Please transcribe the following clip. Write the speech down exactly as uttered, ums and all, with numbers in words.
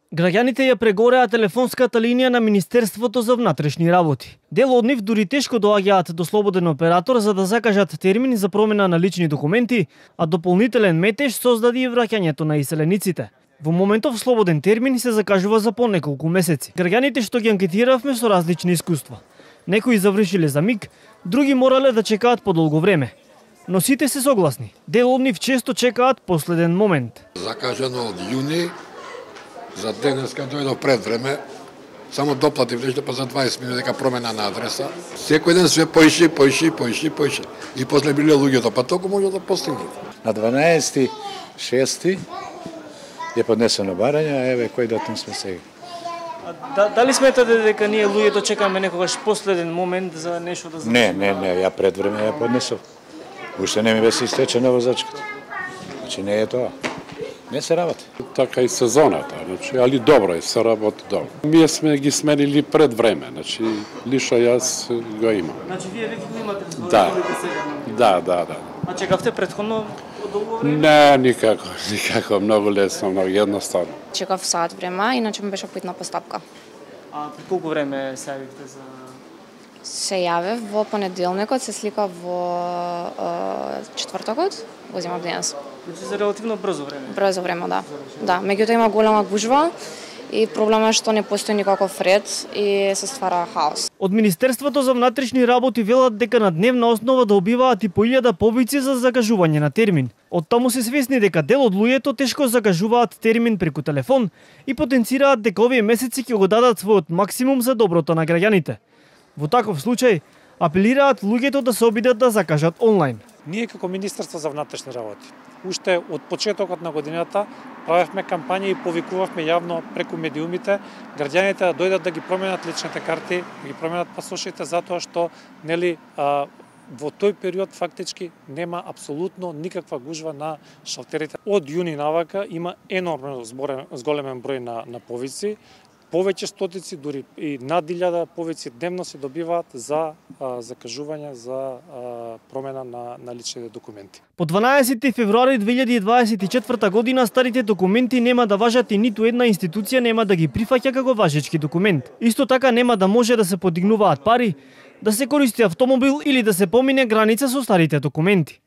Граѓаните ја прегореа телефонската линија на Министерството за внатрешни работи. Дел од нив дури тешко доаѓаат до слободен оператор за да закажат термин за промена на лични документи, а дополнителен метеж создаде и враќањето на иселениците. Во моментов слободен термин се закажува за по неколку месеци. Граѓаните што ги анкетиравме со различни искуства. Некои завршиле за миг, други морале да чекаат подолго време. Но сите се согласни. Дел од нив често чекаат последен момент. Закажано од јуни, за денеска дојдов пред време, само доплатив нешто па за дваесет минути дека промена на адреса. Секој ден све поише, поише, поише, поише. И после биле луѓето, па толку може да постигне. На дванаесети шести е поднесено барање, а еве кој датум сме сега. Да, дали сметате дека ние луѓето чекаме некогаш последен момент за нешто да Не, не, не, ја пред време ја поднесов. Уште не ми беше истечена возачката. Значи не е тоа. Не се работи. Така и сезоната, значи, али добро е, се работи добро. Ние сме ги сменили пред време, значи лично јас го имам. Значи вие веќе го имате збор да. сега? Да, да, да. А чекавте претходно долго време? Не, никако, никако, многу лесно, многу едноставно. Чекав сат време, иначе ми беше поитна постапка. А при колку време се јавивте за... Се јавев во понеделникот, се слика во е, четвртокот, го земав денес. Значи за релативно брзо време? Брзо време, да. Да, меѓутоа има голема гужва и проблемот е што не постои никаков ред и се ствара хаос. Од Министерството за внатрешни работи велат дека на дневна основа добиваат и по илјада повици за закажување на термин. Од таму се свесни дека дел од луѓето тешко закажуваат термин преку телефон и потенцираат дека овие месеци ќе го дадат својот максимум за доброто на граѓаните. Во таков случај, апелираат луѓето да се обидат да закажат онлайн. Ние како Министерство за внатрешни работи, уште од почетокот на годината правевме кампања и повикувавме јавно преку медиумите граѓаните да дојдат да ги променат личните карти, да ги променат пасошите, затоа што нели а, во тој период фактички нема апсолутно никаква гужва на шалтерите. Од јуни навака има енормно зборен, зголемен број на, на повици. Повеќе стотици, дури и над илјада повици дневно се добиваат за а, закажување за а, промена на, на личните документи. По дванаесети февруари две илјади дваесет и четврта година старите документи нема да важат и ниту една институција нема да ги прифаќа како важечки документ. Исто така нема да може да се подигнуваат пари, да се користи автомобил или да се помине граница со старите документи.